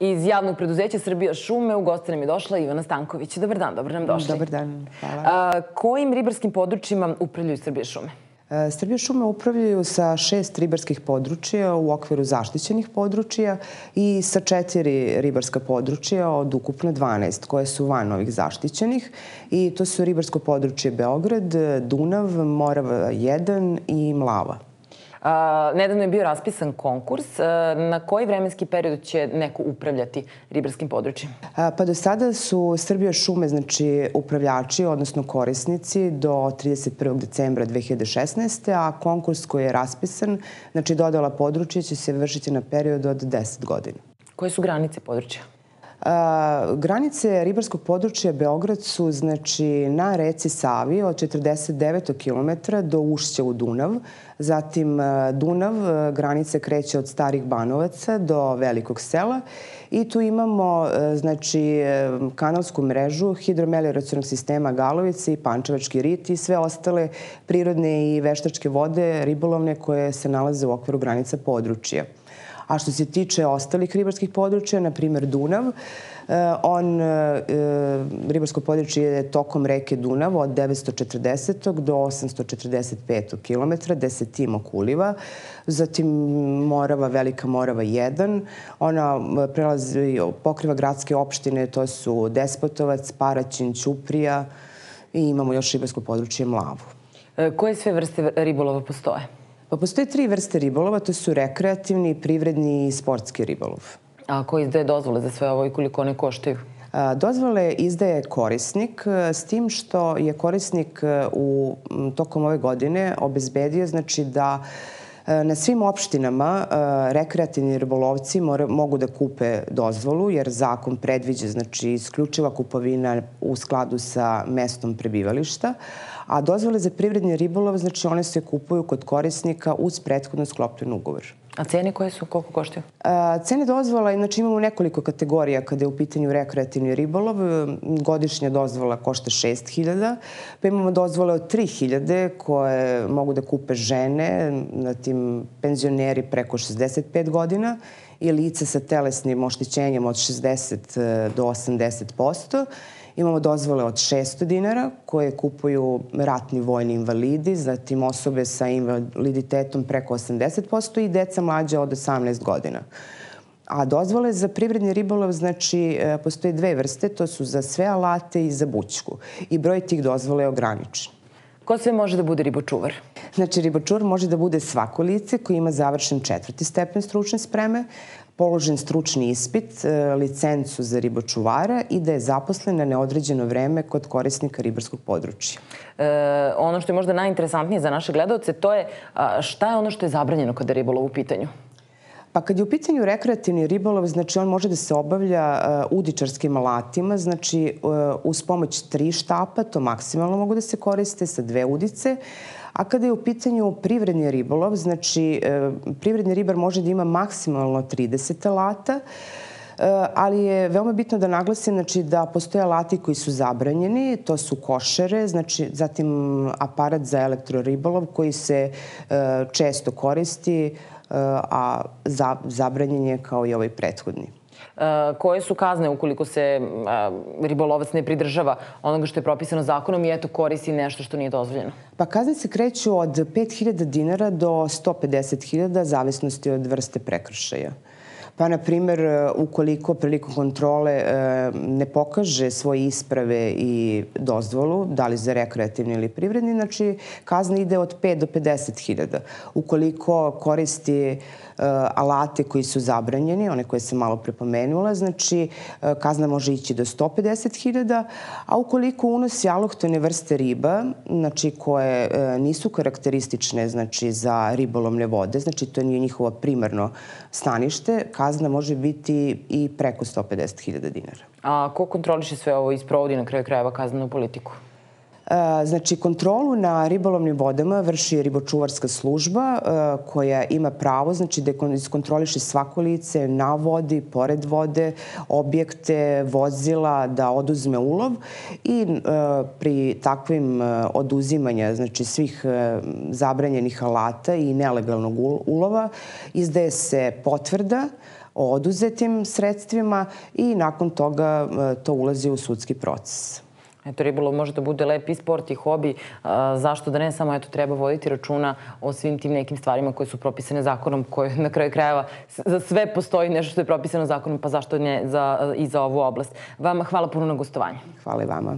Iz javnog preduzeća Srbija šume u goste nam je došla Ivana Stanković. Dobar dan, dobro nam došli. Dobar dan, hvala. Kojim ribarskim područjima upravljaju Srbija šume? Srbija šume upravljaju sa 6 ribarskih područja u okviru zaštićenih područja i sa 4 ribarska područja od ukupno 12 koje su van ovih zaštićenih. I to su ribarsko područje Beograd, Dunav, Morava 1 i Mlava. Nedavno je bio raspisan konkurs. Na koji vremenski period će neko upravljati ribarskim područjem? Pa do sada su Srbija šume, znači upravljači, odnosno korisnici do 31. decembra 2016. A konkurs koji je raspisan, znači dodala područja, će se vršiti na period od 10 godina. Koje su granice područja? Granice ribarskog područja Beograd su znači na reci Savi od 49 km do ušća u Dunav. Zatim Dunav, granice kreće od Starih Banovaca do Velikog sela i tu imamo znači kanalsku mrežu hidromelioracionog sistema Galovice i Pančevački rit i sve ostale prirodne i veštačke vode ribolovne koje se nalaze u okviru granica područja. A što se tiče ostalih ribarskih područja, na primjer Dunav, ribarsko područje je tokom reke Dunav od 940. do 845. km, gde se tim okuliva. Zatim Morava, Velika Morava 1. Ona pokriva gradske opštine, to su Despotovac, Paraćin, Ćuprija i imamo još ribarsko područje Mlavu. Koje sve vrste ribolova postoje? Pa postoje 3 vrste ribolova, to su rekreativni, privredni i sportski ribolov. A ko izdaje dozvole za sve ovo i koliko one koštaju? Dozvole izdaje korisnik, s tim što je korisnik tokom ove godine obezbedio znači da na svim opštinama rekreativni ribolovci mogu da kupe dozvolu, jer zakon predviđa znači isključiva kupovina u skladu sa mestom prebivališta, a dozvole za privredni ribolov, znači one se kupuju kod korisnika uz prethodno sklopljen ugovor. A cene koje su? Koliko koštaju? Cene dozvola, znači imamo nekoliko kategorija kada je u pitanju rekreativni ribolov. Godišnja dozvola košta 6.000, pa imamo dozvole od 3.000 koje mogu da kupe žene, zatim penzioneri preko 65 godina i lice sa telesnim oštećenjem od 60 do 80%. Imamo dozvole od 600 dinara koje kupuju ratni vojni invalidi, zatim osobe sa invaliditetom preko 80% i deca mlađa od 18 godina. A dozvole za privredni ribolov, znači, postoje 2 vrste, to su za sve alate i za bućku. I broj tih dozvola je ograničen. Ko sve može da bude ribočuvar? Znači, ribočuvar može da bude svako lice koji ima završen 4. stepen stručne spreme, položen stručni ispit, licencu za ribočuvara i da je zaposlen na neodređeno vreme kod korisnika ribarskog područja. Ono što je možda najinteresantnije za naše gledaoce, to je šta je ono što je zabranjeno kada je ribolov u pitanju? Pa kad je u pitanju rekreativni ribolov, znači on može da se obavlja udičarskim alatima, znači uz pomoć 3 štapa, to maksimalno mogu da se koriste sa 2 udice. A kada je u pitanju privredni ribolov, znači privredni ribar može da ima maksimalno 30 alata, ali je veoma bitno da naglasim znači, da postoje alati koji su zabranjeni, to su košere, znači, zatim aparat za elektroribolov koji se često koristi, a zabranjen je kao i ovaj prethodni. Koje su kazne ukoliko se ribolovac ne pridržava onoga što je propisano zakonom i eto koristi nešto što nije dozvoljeno? Pa kazne se kreću od 5.000 dinara do 150.000, zavisnosti od vrste prekršaja. Pa, na primjer, ukoliko prilikom kontrole ne pokaže svoje isprave i dozvolu, da li za rekreativni ili privredni, znači kazna ide od 5 do 50.000. Ukoliko koristi alate koji su zabranjeni, one koje sam malo prepomenula, znači kazna može ići do 150.000, a ukoliko unosi alohtone vrste riba, znači koje nisu karakteristične znači, za ribolovne vode, znači to nije njihovo primarno stanište, kazna može biti i preko 150.000 dinara. A ko kontroliše sve ovo i sprovodi na kraju krajeva kaznenu politiku? Znači, kontrolu na ribolovnim vodama vrši ribočuvarska služba koja ima pravo znači, da iskontroliše svako lice na vodi, pored vode, objekte, vozila, da oduzme ulov i pri takvim oduzimanja znači, svih zabranjenih alata i nelegalnog ulova izdaje se potvrda o oduzetim sredstvima i nakon toga to ulazi u sudski proces. Eto, ribolov može da bude lep i sport i hobi. Zašto da ne? Samo treba voditi računa o svim tim nekim stvarima koje su propisane zakonom, koje na kraju krajeva za sve postoji nešto što je propisano zakonom, pa zašto ne i za ovu oblast. Vama hvala puno na gostovanje. Hvala i vama.